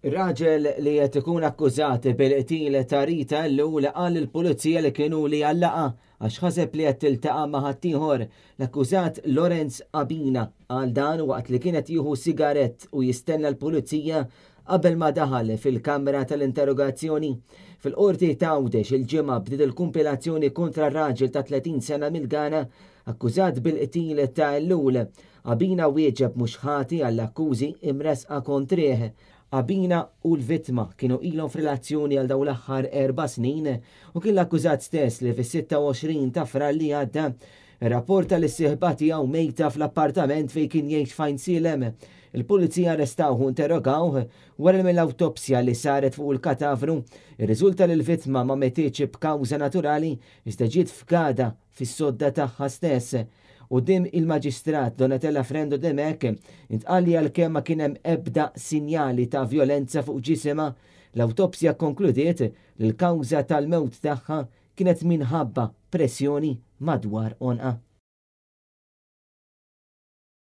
Raġel li qed ikun akkużat bil-qtil ta' Rita Ellul qal lill-Pulizija li kien hu li għallaqha għax ħaseb li qed tiltaqa' ma' ħaddieħor. L-akkużat Lawrence Abina qal dan waqt li kien qed jieħu sigarett u jistenna l-Pulizija qabel ma daħal fil-kamra tal-interrogazzjoni. Fil-Qorti t'Għawdex il-Ġimgħa bdiet il-kumpilazzjoni kontra raġel ta' 30 sena mill-Ghana akkużat bil-qtil ta' Ellul. Abina wieġeb mhux ħati għall-akkużi imressqa kontrih. Abina u l-vittma kienu ilhom f'relazzjoni għal dawn l-aħħar erba' snin u kien l-akkużat stess li fis-26 ta' Frar li għadda rrapporta lis-sieħba tiegħu mejta fl-appartament fejn kien jgħix f'Għajnsielem. Il-Pulizija arrestawh u interrogawh wara li mill-awtopsja li saret fuq il-katavru rriżulta li l-vittma ma metitx b'kawża naturali iżda ġiet fgada fis-sodda tagħha stess. Quddiem il-Maġistrat Donatella Frendo Dimech intqal li għalkemm ma kien hemm ebda sinjali ta' vjolenza fuq ġisimha, l-awtopsja kkonkludiet li l-kawża tal-mewt tagħha kienet minħabba pressjoni madwar għonqha.